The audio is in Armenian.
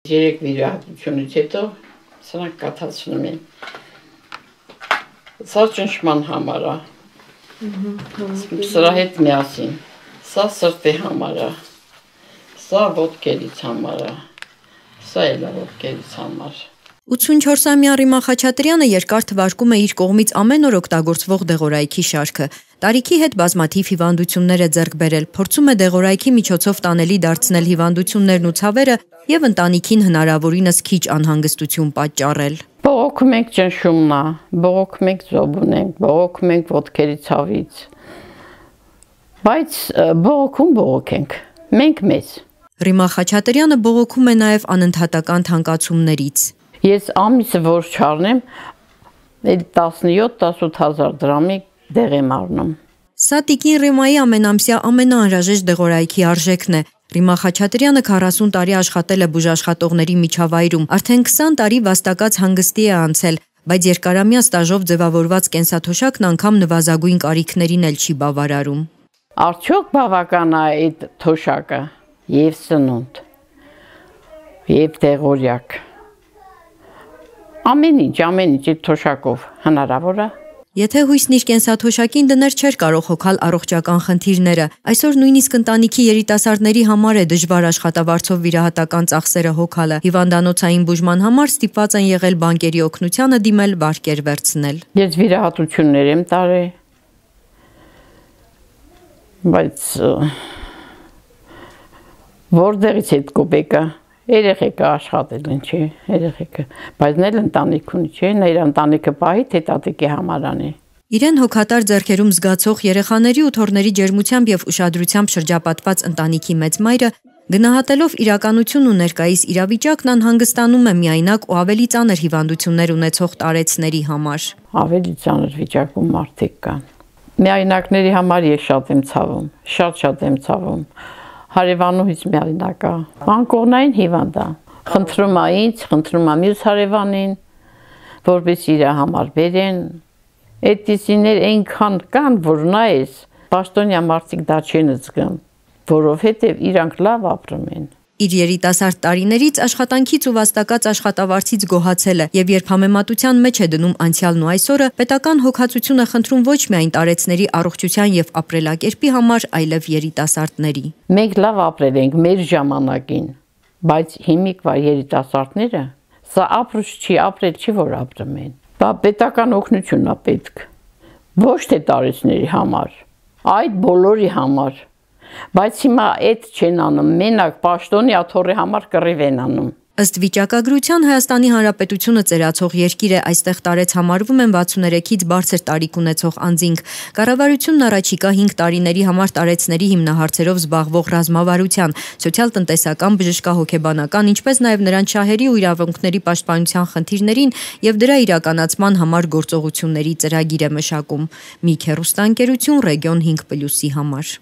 3 վիրահատությունից հետո սրանք կաթացնում են։ Սա ճնշման համար է։ Սրա հետ միասին։ Սա սրտի համար է։ Սա ոտքերից համար է։ Սա էլ է ոտքերից համար։ 84-ամյա Ռիմա Խաչատրյանը երկար թվարկում է իր կողմից ամեն օր օգտագործվող դեղորայքի շարքը։ Տարիքի հետ բազմաթիվ հիվանդություններ է ձեռք բերել, փորձում է դեղորայքի միջոցով տանելի դարձնել հիվանդություններն ու ցավերը եւ ընտանիքին հնարավորինս քիչ անհանգստություն պատճառել։ Բողոքում ենք ճնշումն է, բողոքում ենք զոբուն ենք, բողոքում ենք ոտքերի ցավից։ Բայց բողոքենք, մենք մեզ։ Ռիմա Խաչատրյանը բողոքում է նաեւ անընդհատական թանկացումներից։ Ես ամիսը որ չառնեմ, 17-18 հազար դրամի դեղ եմ առնում։ Սա տիկին Ռիմայի ամենամսյա ամենաանհրաժեշտ դեղորայքի արժեքն է։ Ռիմա Խաչատրյանը 40 տարի աշխատել է բուժաշխատողների միջավայրում, արդեն 20 տարի վաստակած հանգստի է անցել, բայց երկարամյա ստաժով ձևավորված կենսաթոշակն անգամ նվազագույն կարիքներին էլ չի բավարարում։ Արդյոք բավական է այդ թոշակը եւ սնունդ, եւ դեղորայք։ Ամեն ինչ այդ թոշակով հնարավոր է։ Եթե հույսն իր կենսաթոշակին դներ, չէր կարող հոգալ առողջական խնդիրները։ Այսօր նույնիսկ ընտանիքի երիտասարդների համար է դժվար աշխատավարձով վիրահատական ծախսերը հոգալը։ Հիվանդանոցային բուժման համար ստիպված են եղել բանկերի օգնությանը դիմել վարկեր վերցնել։ Ես վիրահատություններ եմ տարել, բայց որտեղից այդ կոպեկը երեխեքը աշխատել են, չէ, երեխեքը, բայց նել ընտանիք ունի, չէ, նա իր ընտանիքը պահի, թե տատիկի համար անի։ Իրեն հոգատար ձեռքերում զգացող երեխաների ու թոռների ջերմությամբ եւ ուշադրությամբ շրջապատված ընտանիքի մեծ մայրը գնահատելով իրականությունն ու ներկայիս իրավիճակն անհանգստանում է միայնակ ու ավելի ծանր հիվանդություններ ունեցող տարեցների համար։ Ավելի ծանր վիճակում մարդիկ կան։ Միայնակների համար ես շատ եմ ցավում, շատ եմ ցավում։ Հարևանուհիս միայնակ է, անկողնային հիվանդ է, խնդրում է ինձ, խնդրում է մյուս հարևանին, որպես իր համար բերեն, այդպիսիներ այնքան կան, որ նայես, պաշտոնյա մարդիկ դա չեն զգում, որովհետև իրանք լավ ապրում են։ Իր երիտասարդ տարիներից աշխատանքից ու վաստակած աշխատավարձից գոհացել է եւ երբ համեմատության մեջ է դնում անցյալն ու այսօրը, պետական հոգացություն է խնդրում ոչ միայն տարեցների առողջության եւ ապրելակերպի համար, այլև երիտասարդների։ Մենք լավ ապրել ենք մեր ժամանակին, բայց հիմիկվա երիտասարդները սա ապրուց չի, ապրել չի, որ ապրում են։ Բա պետական օգնությունն է պետք։ Ոչ թե տարեցների համար, այդ բոլորի համար։ Բայց հիմա այդ չեն անում, մենակ պաշտոնյա թոռի համար կռիվ են անում։ Ըստ վիճակագրության Հայաստանի Հանրապետությունը ծերացող երկիր է, այստեղ տարեց համարվում են 63-ից բարձր տարիք ունեցող անձինք։ Կառավարությունն առաջիկա 5 տարիների համար տարեցների հիմնահարցերով զբաղվող ռազմավարության, սոցիալ-տնտեսական, բժշկահոգեբանական, ինչպես նաև նրանց շահերի ու իրավունքների պաշտպանության խնդիրներին եւ դրա իրականացման համար գործողությունների ծրագիր է մշակում։ Մի քեռուստաընկերություն Ռեգիոն 5+-ի համար։